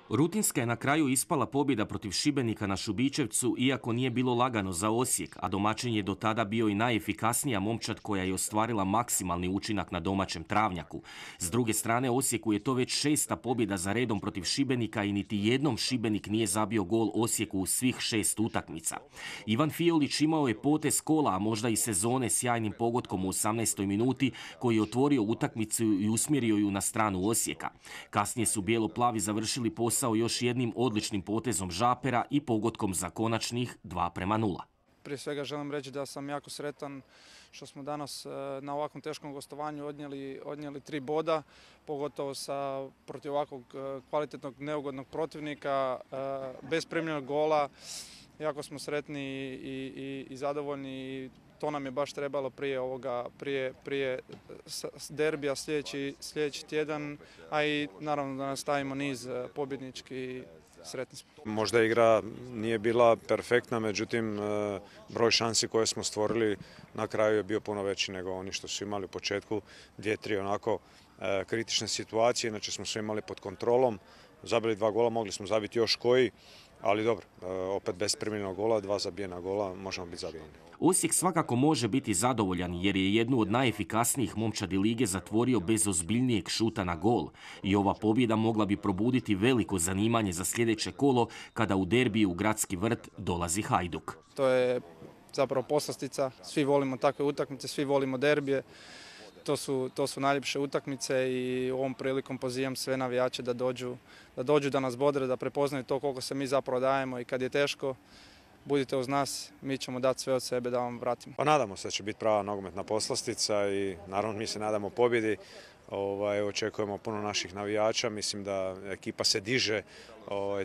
Rutinska je na kraju ispala pobjeda protiv Šibenika na Šubićevcu, iako nije bilo lagano za Osijek, a domaćin je do tada bio i najefikasnija momčad koja je ostvarila maksimalni učinak na domaćem travnjaku. S druge strane, Osijeku je to već 6. pobjeda za redom protiv Šibenika i niti jednom Šibenik nije zabio gol Osijeku u svih 6 utakmica. Ivan Fiolić imao je potez kola, a možda i sezone, sjajnim pogodkom u 18. minuti koji je otvorio utakmicu i usmjerio ju na stranu Osijeka. Kasnije su bijelo-plavi završili posao još jednim odličnim potezom Žapera i pogodkom za konačnih 2:0. Prije svega želim reći da sam jako sretan što smo danas na ovakvom teškom gostovanju odnijeli 3 boda, pogotovo protiv ovakvog kvalitetnog neugodnog protivnika, bez primljenog gola. Jako smo sretni i zadovoljni i to nam je baš trebalo prije derbija sljedeći tjedan, a i naravno da nastavimo niz pobjednički. Sretni smo. Možda igra nije bila perfektna, međutim broj šansi koje smo stvorili na kraju je bio puno veći nego oni što su imali u početku. 2-3 onako kritične situacije, inače smo sve imali pod kontrolom. Zabili 2 gola, mogli smo zabiti još koji, ali dobro, opet bez primljenog gola, 2 zabijena gola, možemo biti zadovoljni. Osijek svakako može biti zadovoljan jer je jednu od najefikasnijih momčadi lige zatvorio bez ozbiljnijeg šuta na gol. I ova pobjeda mogla bi probuditi veliko zanimanje za sljedeće kolo kada u derbiju u Gradski vrt dolazi Hajduk. To je zapravo poslastica, svi volimo takve utakmice, svi volimo derbije. To su najljepše utakmice i ovom prilikom pozivam sve navijače da dođu da nas bodre, da prepoznaju to koliko se mi zapravo dajemo i kad je teško, budite uz nas, mi ćemo dati sve od sebe da vam vratimo. Pa nadamo se da će biti prava nogometna poslastica i naravno mi se nadamo pobjedi. Očekujemo puno naših navijača, mislim da ekipa se diže,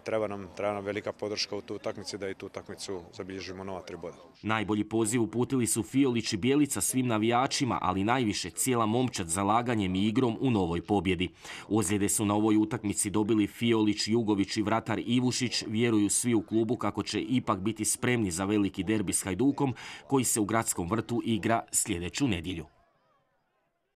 treba nam velika podrška u tu utakmici da i tu utakmicu zabilježimo nova 3 boda. Najbolji poziv uputili su Fiolić i Bjelica svim navijačima, ali najviše cijela momčad zalaganjem i igrom u novoj pobjedi. Ozljede su na ovoj utakmici dobili Fiolić, Jugović i vratar Ivušić, vjeruju svi u klubu kako će ipak biti spremni za veliki derbi s Hajdukom koji se u Gradskom vrtu igra sljedeću nedjelju.